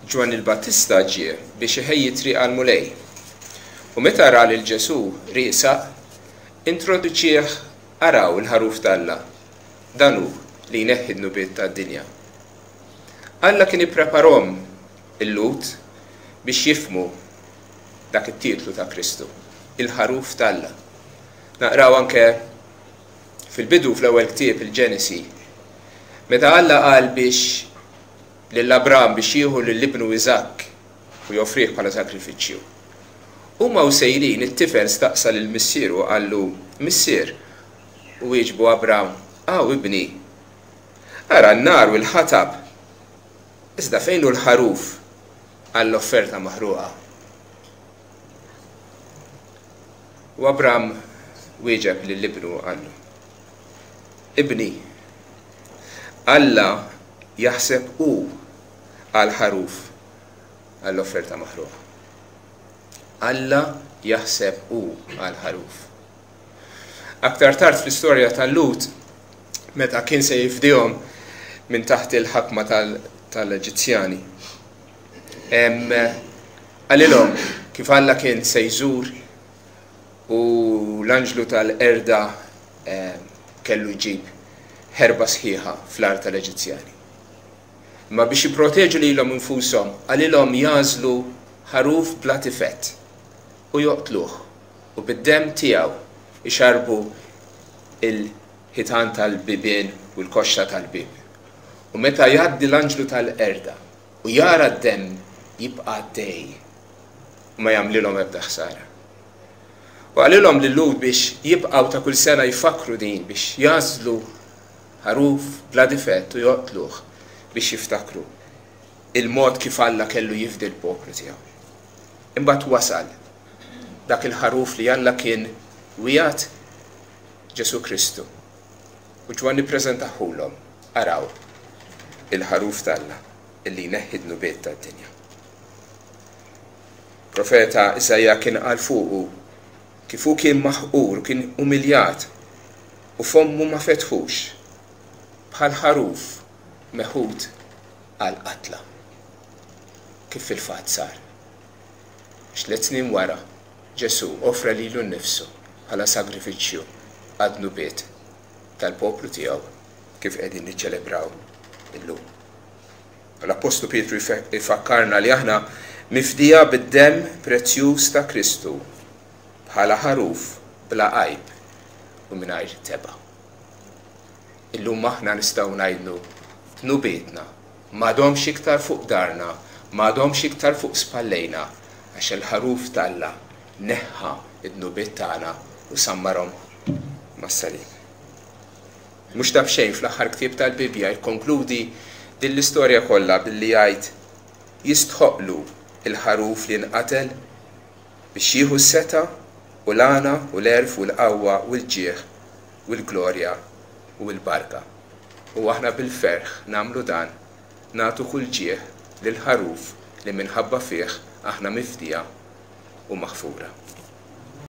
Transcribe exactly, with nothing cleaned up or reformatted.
Ġwanni l-Battista ġie biex iħejji triq għall-Mulej. U meta ra lil Ġesù riesaq, introduċieh: "Araw il-ħaruf t'Alla, dan hu li jneħħi d-dnubiet tad-dinja." Alla kien ippreparahom il-Lhud biex jifhmu dak it-titlu ta' Kristu, il-ħaruf t'Alla. Naqraw anke fil-bidu, fl-ewwel ktieb, il-Ġenesi, meta Alla qal biex lil Abram biex jieħu lil ibnu Iżakk u joffrih bħala sakrifiċċju. Huma u sejrin, it-tifel staqsa lil missieru, qallu: "Missier?" U wieġbu Abram: "Aw ibni. Ara n-nar u l-ħatab. Iżda fejn hu l-ħaruf għall-offerta maħruqa?" U Abram wieġeb lil ibnu, qallu: "Ibni, Alla jaħseb hu għal ħaruf għall-offerta maħruqa." Alla jaħseb hu għal ħaruf. Aktar tard fl-istorja tal-Lhud, meta kien se jifdihom minn taħt il-ħakma tal-Eġizzjani, qalilhom kif Alla kien se jżur u l-anġlu tal-qerda kellu jġib ħerba sħiħa fl-art tal-Eġizzjani. Ma biex jipproteġu lilhom infushom, qalilhom jagħżlu ħaruf bla difett u joqtluh u bid-dem tiegħu ixarbu il-ħitan tal-bibien u l-koxxa tal-bib. U meta jgħaddi l-anġlu tal-qerda u jara d-dem, jibqa' għaddej u ma jagħmlilhom ebda ħsara. U qalilhom lil-Lhud biex jibqgħu ta' kull sena jfakru din, biex jagħżlu ħaruf bla difett u joqtluh biex jiftakru il-mod kif Alla kellu jifdi l-poplu tiegħu. Imbagħad wasal dak il-ħaruf li Alla kien wiegħed, Ġesù Kristu. U Ġwanni ppreżentahulhom: "Araw il-ħaruf t'Alla illi jneħħi dnubiet tad-dinja." Profeta Isaija kien qal fuqu kif hu kien maħqur, kien umiljat u fommu ma fetħux, bħal ħaruf meħud għal qatla. Kif fil-fatt sar. Tliet snin wara, Ġesù offra lilu nnifsu bħala sagrifiċċju għad-dnubiet tal-poplu tiegħu, kif qegħdin niċċelebraw illum. L-Apostlu Pietru ifakkarna li aħna mifdija bid-dem prezzjuż ta' Kristu bħala ħaruf bla għajb u mingħajr tebgħa. Illum aħna nistgħu ngħidlu: dnubietna m'għadhomx iktar fuq daharna, m'għadhomx iktar fuq spallejna, għax il-ħaruf t'Alla neħħa id-dnubiet tagħna u sammarhom mas-salib. Mhux ta' b'xejn fl-aħħar ktieb tal-Bibja jikkonkludi din l-istorja kollha billi jgħid: "Jistħoqlu il-ħaruf li nqatel biex jieħu s-setgħa u l-għana u l-għerf u l-qawwa u l-ġieħ u l-glorja u l-barka." U aħna bil-ferħ nagħmlu dan, nagħtu kull ġieħ lil ħaruf li minħabba fih aħna mifdija u maħfura.